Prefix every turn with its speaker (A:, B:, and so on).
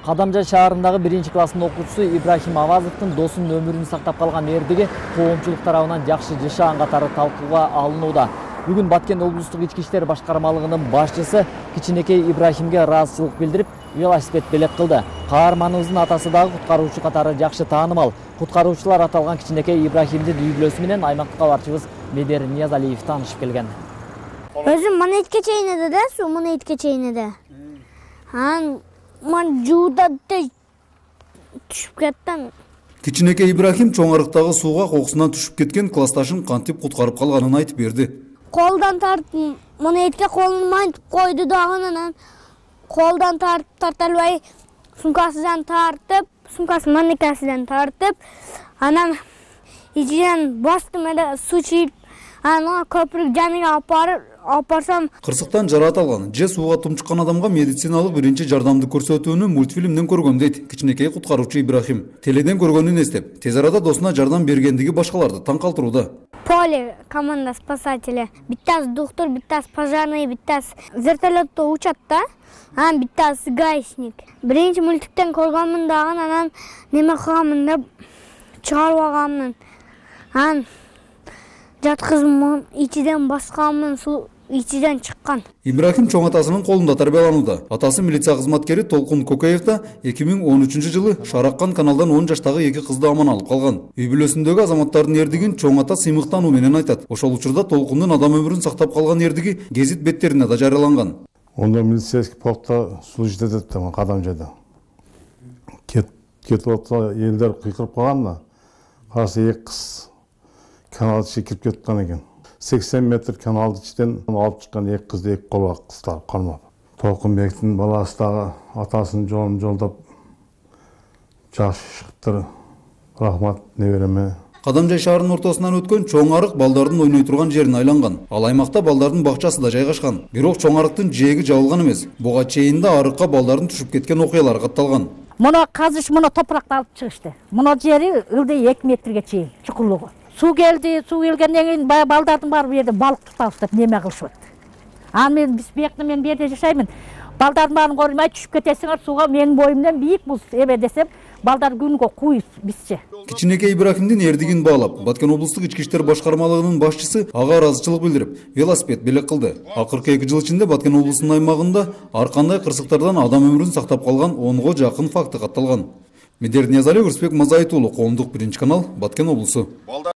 A: Кадамжай шаарындагы 1-класстын окуучусу Ибрахим Авазовдун досунун өмүрүн сактап калган эрдиги коомчулук тарабынан жакшы жашаган катары талкууга алынууда. Бүгүн Баткен облустук ички иштер башкармалыгынын башчысы кичинекей Ибрахимге ыраазычылык билдирип, велосипед белек кылды. Каарманыбыздын атасы дагы куткаруучу катары жакшы таанымал. Куткаруучулар аталган кичинекей Ибрахимдин үй бүлөсү менен аймактык кабарчыбыз Медер Ниязалиев таанышып келген.
B: Өзүм мына итке чейинеде да, суу мына итке чейинеде. Мен жууда түшүп кеттим.
C: Кичинекей Ибрахим чоң арыктагы сууга кокусунан түшүп кеткен классташын кантип куткарып калганын айтып берди.
B: Колдан тартып, мына итке колун мантип койду дагы, анан колдан тарта албай сумкасынан тартып, сумкасын маникасынан тартып, анан ичинен бастым эле суу чийип, анан көпүрүк жаныга алып барсам,
C: кырсыктан жараат алган же сууга тумчуккан адамга медициналык биринчи жардамды көрсөтүүнү мультфильмден көргөн дейт кичинекей куткаруучу Ибрахим. Теледен көргөнүн эстеп, тез арада досуна жардам бергендиги башкаларды таң калтырууда.
B: Поле команда спасатели, биттасы доктор, биттасы пожарный, биттасы вертолетто учат да, анан биттасы гаишник. Биринчи мультиктен көргөнмүн дагы, анан неме кылганмын деп чыгарып алганмын. Анан жаткызып ичиден басканмын, суу ичиден чыккан.
C: Ибрахим чоң атасынын колунда тарбияланууда. Атасы милиция кызматкери Толкун Кокеев да 2013 жылы Шараккан каналдан 10 жаштагы 2 кызды аман алып калган. Үй бүлөсүндөгү азаматтардын эрдигин чоң ата сыймыктануу менен айтат. Ошол учурда Толкундун адам өмүрүн сактап калган эрдиги гезит беттерине да жарыяланган.
D: Онда милицейский полкта служить этет да, Кадамжайда. Кетип отса элдер кыйкырып калган да. Караса 2 кыз каналды кирип кеткен экен. 80 метр каналды içten алып чыккан 2 кызды 2 колго кыстап кармап. Толкунбектин баласы дагы атасын жолун жолдоп жакшы чыктыр. Рахмат небереме.
C: Кадамжай шаарынын ортосунан өткөн чоң арык балдардын ойной турган жерине айланган. Ал аймакта балдардын бакчасы да жайгашкан. Бирок чоң арыктын жээги жабылган эмес. Буга чейин да арыкка балдардын түшүп кеткен окуялар катталган.
E: Муну казыш, муну топуракты алып чыгышты. Муну жери ылдый 2 метрге чейин чукурлугу. Суу келди, суу келгенден кийин баягы балдардын баары бу жерде балык тутабыз деп неме кылышып атты. Анан биз биякта мен бу жерде жашаймын. Балдардын баарын көрмөй түшүп кетесиңер сууга, менин боюмдан бийик бул эме десем, балдар күнгө куй бизче.
C: Кичинекей Ибрахимдин эрдигин баалап, Баткен облустук ички иштер башкармалыгынын башчысы ага ыраазычылык билдирип, велосипед белек кылды. Акыркы 2 жыл ичинде Баткен облусунун аймагында ар кандай кырсыктардан адам өмүрүн сактап калган 10го жакын факты катталган. Медер Ниязалиев, Мазаит уулу, Коомдук 1 канал, Баткен облусу.